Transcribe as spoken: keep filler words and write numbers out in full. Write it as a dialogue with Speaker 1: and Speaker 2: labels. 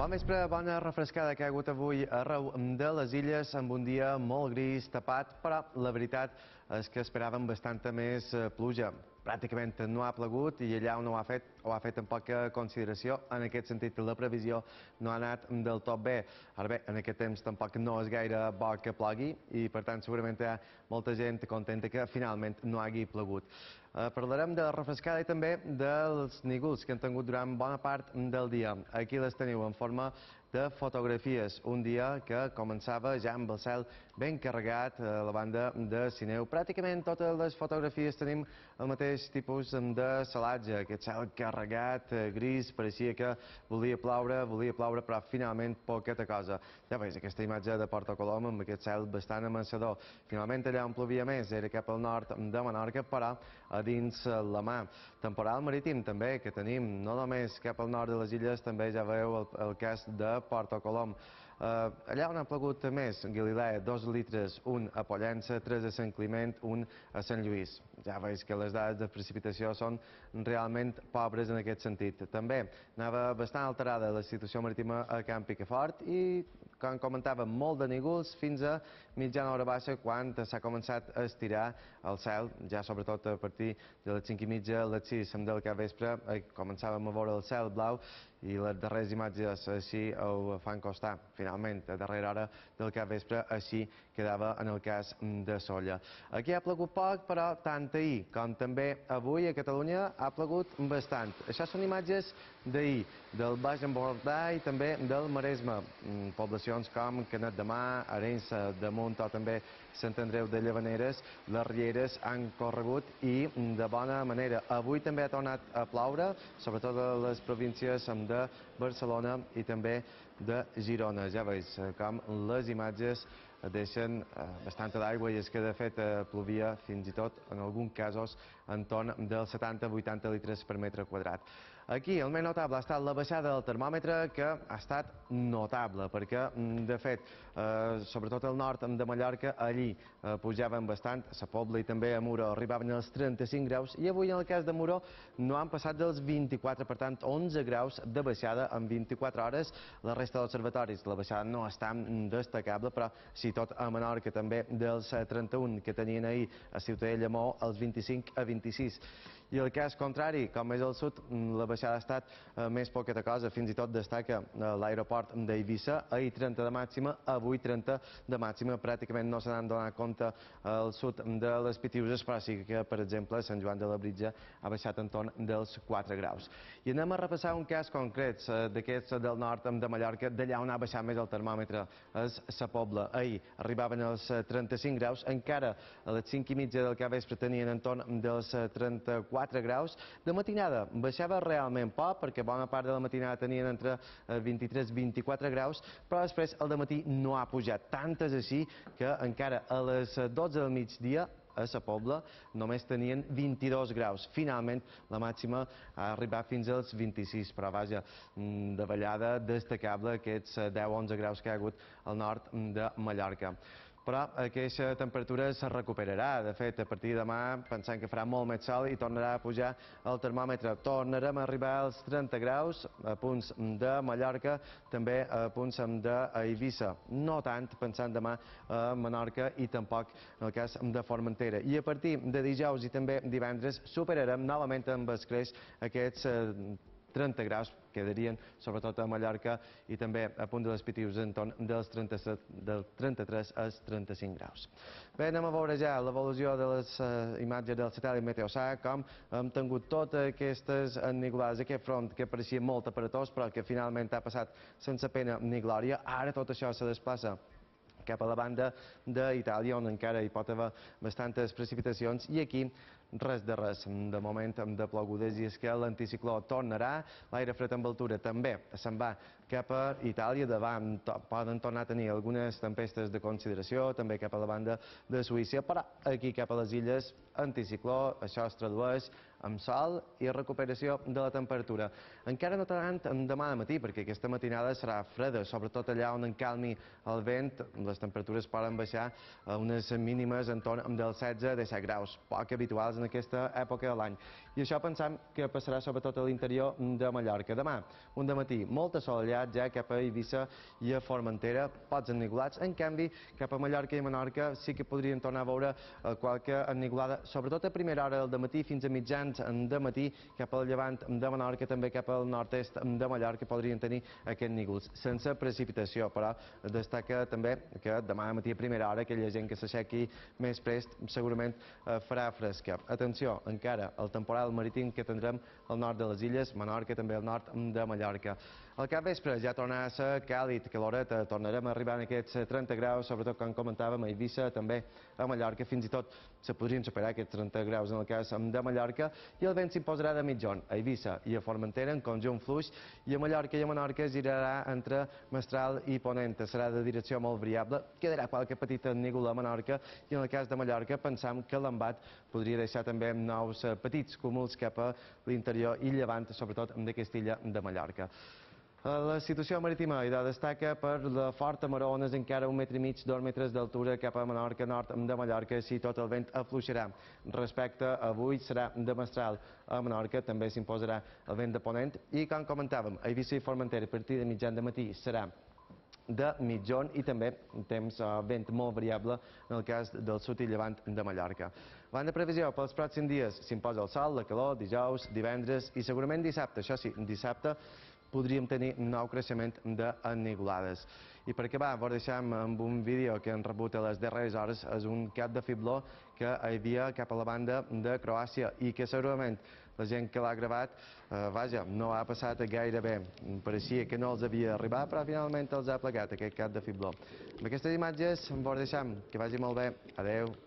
Speaker 1: Bon vespre, bona refrescada que ha hagut avui arreu de les illes amb un dia molt gris, tapat, però la veritat és que esperàvem bastanta més pluja. Pràcticament no ha plegut i allà on ho ha fet, ho ha fet amb poca consideració. En aquest sentit, la previsió no ha anat del tot bé. Ara bé, en aquest temps tampoc no és gaire bo que plogui i, per tant, segurament hi ha molta gent contenta que finalment no hagi plegut. Eh, parlarem de la refrescada i també dels nígols que han tingut durant bona part del dia. Aquí les teniu en forma de fotografies. Un dia que començava ja amb el cel ben carregat a la banda de Sineu. Pràcticament totes les fotografies tenim el mateix tipus de celatge, aquest cel carregat, gris, pareixia que volia ploure, volia ploure, però finalment poqueta cosa. Ja veus, aquesta imatge de Porto Colom amb aquest cel bastant amansador. Finalment allà on plovia més era cap al nord de Menorca, però a dins la mà. Temporal marítim també, que tenim no només cap al nord de les illes, també ja veieu el, el cas de Porto Colom. Uh, allà on ha plegut més, Galilea, dos litres, un a Pollença, tres a Sant Climent, un a Sant Lluís. Ja veus que les dades de precipitació són realment pobres en aquest sentit. També anava bastant alterada la situació marítima a Camp Picafort i, com comentàvem, molt de nígols fins a mitjana hora baixa quan s'ha començat a estirar el cel, ja sobretot a partir de les cinc i mitja, les sis del capvespre, començàvem a veure el cel blau i les darreres imatges així ho fan costar. Finalment, a darrera hora del capvespre, així quedava en el cas de Sóller. Aquí ha plegut poc, però tant ahir com també avui a Catalunya ha plegut bastant. Això són imatges d'ahir, del Baix Empordà i també del Maresme. Poblacions com Canet de Mar, Arenys de Munt o també Sant Andreu de Llavaneres, les rieres han corregut i de bona manera. Avui també ha tornat a ploure, sobretot a les províncies de Barcelona i també de Girona. Ja veus com les imatges deixen bastanta d'aigua i és que de fet plovia fins i tot en alguns casos entorn dels setanta a vuitanta litres per metre quadrat. Aquí el més notable ha estat la baixada del termòmetre, que ha estat notable perquè de fet sobretot al nord de Mallorca allí pujaven bastant, a Sa Pobla i també a Muro arribaven als trenta-cinc graus i avui en el cas de Muro no han passat dels vint-i-quatre, per tant onze graus de baixada en vint-i-quatre hores. La resta d'observatoris la baixada no és tan destacable, però sí tot a Menorca també dels trenta-un que tenien ahir a Ciutadella Mó als vint-i-cinc a vint-i-sis. I el cas contrari, com és al sud, la baixada ha estat més poqueta cosa, fins i tot destaca l'aeroport d'Eivissa, ahir trenta de màxima, avui trenta de màxima, pràcticament no se n'han donat compte al sud de les Pitiuses, però sí que, per exemple, Sant Joan de Labritja ha baixat entorn dels quatre graus. I anem a repassar un cas concret d'aquests del nord de Mallorca, d'allà on ha baixat més el termòmetre, és Sa Pobla. Ahir arribaven als trenta-cinc graus, encara a les cinc i mitja del capvespre tenien entorn dels trenta-quatre graus. De matinada baixava realment poc, perquè bona part de la matinada tenien entre vint-i-tres i vint-i-quatre graus, però després el dematí no ha pujat. Tant és així que encara a les dotze del migdia a Sa Pobla només tenien vint-i-dos graus. Finalment, la màxima ha arribat fins als vint-i-sis, però vaja, de ballada destacable aquests deu a onze graus que hi ha hagut al nord de Mallorca. Però aquesta temperatura se recuperarà. De fet, a partir de demà, pensant que farà molt més sol i tornarà a pujar el termòmetre. Tornarem a arribar als trenta graus a punts de Mallorca, també a punts d'Eivissa. No tant, pensant demà a Menorca i tampoc en el cas de Formentera. I a partir de dijous i també divendres superarem novament amb escreix aquests trenta graus, quedarien sobretot a Mallorca i també a punt de les Pitius entorn dels trenta-tres als trenta-cinc graus. Bé, anem a veure ja l'evolució de les imatges del satèl·lit Meteosat, com hem tingut totes aquestes enniglades, aquest front que pareixia molt aparatós però que finalment ha passat sense pena ni glòria. Ara tot això se desplaça cap a la banda d'Itàlia, on encara hi pot haver bastantes precipitacions, i aquí res de res, de moment de plogudes, i és que l'anticicló tornarà, l'aire fred amb altura també se'n va cap a Itàlia, davant poden tornar a tenir algunes tempestes de consideració, també cap a la banda de Suïssa, però aquí cap a les illes, anticicló, això es tradueix amb sol i recuperació de la temperatura. Encara no tant demà de matí, perquè aquesta matinada serà freda, sobretot allà on encalmi el vent, les temperatures poden baixar a unes mínimes entorn dels setze a disset graus, poc habituals habituals en aquesta època de l'any. I això pensam que passarà sobretot a l'interior de Mallorca. Demà, un dematí molt assolellat ja cap a Eivissa i a Formentera, pocs enniculats. En canvi, cap a Mallorca i Menorca sí que podrien tornar a veure qualque ennigulada, sobretot a primera hora del matí fins a mitjans de matí, cap al llevant de Menorca, també cap al nord-est de Mallorca podrien tenir aquests nígols, sense precipitació, però destaca també que demà matí a primera hora aquella gent que s'aixequi més prest segurament farà fresca. Atenció, encara, el temporal marítim que tindrem al nord de les illes, Menorca, també al nord de Mallorca. Al capvespre ja tornarà a ser càlid, caloret, tornarem a arribar a aquests trenta graus, sobretot com comentàvem a Eivissa, també a Mallorca, fins i tot se podrien superar aquests trenta graus en el cas de Mallorca, i el vent s'imposarà de mitjon a Eivissa i a Formentera en conjunt fluix, i a Mallorca i a Menorca girarà entre mestral i ponent, serà de direcció molt variable, quedarà qualque petita nígula a Menorca, i en el cas de Mallorca pensam que l'embat podria deixar també nous petits cúmuls cap a l'interior i llevant, sobretot d'aquesta illa de Mallorca. La situació marítima idò destaca per la forta maró, ones encara un metre i mig, dos metres d'altura cap a Menorca, nord de Mallorca, si tot el vent afluixarà. Respecte a avui serà de mestral. A Menorca també s'imposarà el vent de ponent i, com comentàvem, a Eivissa i Formentera a partir de mitjan de matí serà de mitjon i també temps vent molt variable en el cas del sud i llevant de Mallorca. Van de previsió pels pròxims dies s'imposa el sol, la calor, dijous, divendres i segurament dissabte. Això sí, dissabte podríem tenir nou creixement d'ennigulades. I per acabar, vos deixem amb un vídeo que hem rebut a les darreres hores. És un cap de fibló que hi havia cap a la banda de Croàcia i que segurament la gent que l'ha gravat, eh, vaja, no ha passat gaire bé. Pareixia que no els havia arribat, però finalment els ha plegat aquest cap de fibló. Amb aquestes imatges vos deixem. Que vagi molt bé. Adeu.